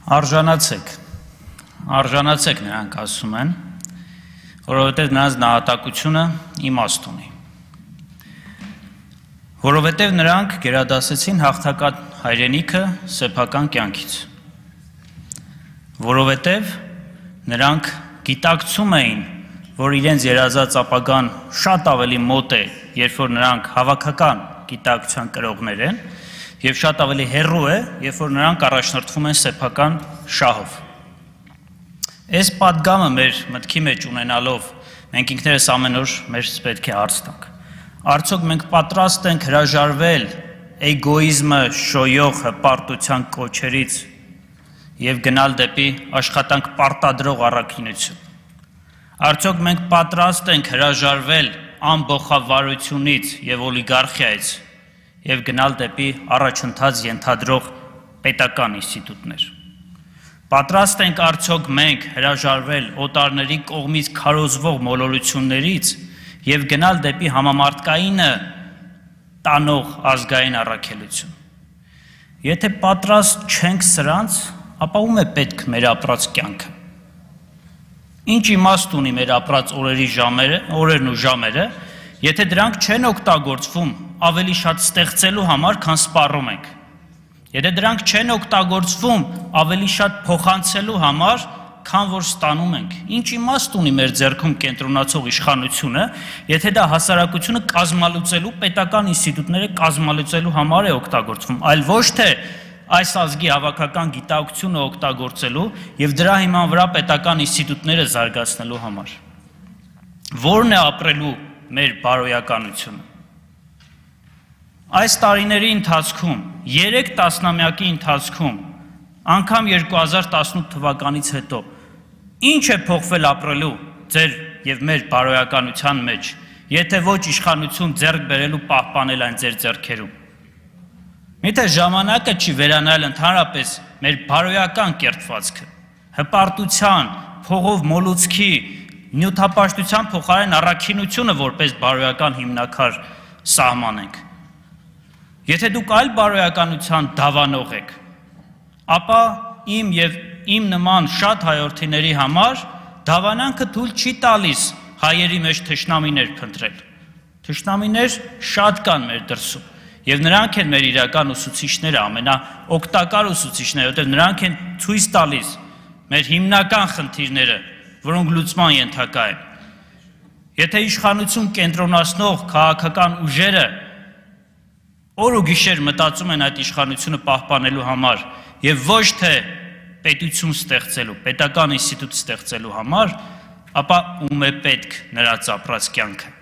Արժանացեք նրանք ասում են, որովհետև նրանց նահատակությունը իմաստ ունի, որովհետև նրանք գերադասեցին հաղթական հայրենիքը սեփական կյանքից, որովհետև նրանք գիտակցում էին, որ իրենց երազած ապագան շատ ավելի մոտ է, երբ որ նրանք հավաքական գիտակցության կրողներ են, և շատ ավելի հեռու է, երբ որ նրանք առաջնորդվում են սեփական շահով։ Այս պատգամը մեր մտքի մեջ ունենալով, մենք ինքներս ամեն օր մեզ պետք է հարց տանք։ Արդյոք մենք պատրաստ ենք հրաժարվել էգոիզմը շոյող հպարտության կոչերից և գնալ դեպի աշխատանք պարտադրող առաքինություն։ Արդյոք մենք պատրաստ ենք հրաժարվել ամբոխավարությունից և օլիգարխիայից և գնալ դեպի առաջընթաց ենթադրող պետական ինստիտուտներ։ Պատրաստ ենք արդյոք մենք հրաժարվել օտարների կողմից քարոզվող մոլորություններից և գնալ դեպի համամարտկայինը տանող ազգային առաքելություն։ Եթե պատրաստ չենք սրանց, ապա ում է պետք մեր ապրած կյանքը։ Ինչ իմաստ ունի մեր ապրած օրերն ու ժամերը, եթե դրանք չեն օգտագործվում ավելի շատ ստեղծելու համար, քան սպառում ենք։ Եթե դրանք չեն օգտագործվում ավելի շատ փոխանցելու համար, քան որ ստանում ենք։ Ինչ իմաստ ունի մեր ձեռքում կենտրոնացող իշխանությունը, եթե դա հասարակությունը կազմալուծելու, պետական ինստիտուտները կազմալուծելու համար է օգտագործվում, այլ ոչ թե այս ազգի հավաքական գիտակցությունը օգտագործելու և դրա հիման վրա պետական ինստիտուտները զարգացնելու համար։ Որն է ապրելու մեր բարոյականությունը։ Այս տարիների ընթացքում, 3 տասնամյակի ընթացքում, անգամ 2018 թվականից հետո, ինչ է փոխվել ապրելու ձեր և մեր բարոյականության մեջ, եթե ոչ իշխանություն ձեռք բերելու պահպանել այն ձեր ձեռքերում։ Միթե ժամանակը չի վերանայել ընդհանրապես մեր բարոյական կերտվածքը, հպարտության, փողով մոլուցքի, նյութապաշտության փոխարեն առաքինությունը որպես բարոյական հիմնաքար սահմանենք։ Եթե դուք այլ բարոյականության դավանող եք, ապա իմ և իմ նման շատ հայորդիների համար դավանանքը թույլ չի տալիս հայերի մեջ թշնամիներ փնտրել։ Թշնամիներ շատ կան մեր դրսում, և նրանք են մեր իրական ուսուցիչները, ամենաօգտակար ուսուցիչները, որտեղ նրանք են ցույց տալիս մեր հիմնական խնդիրները, որոնք լուծման ենթակա են։ Եթե իշխանություն կենտրոնացնող քաղաքական ուժերը օր ու գիշեր մտածում են այդ իշխանությունը պահպանելու համար և ոչ թե պետություն ստեղծելու, պետական ինստիտուտ ստեղծելու համար, ապա ում է պետք նրանց ապրած կյանքը։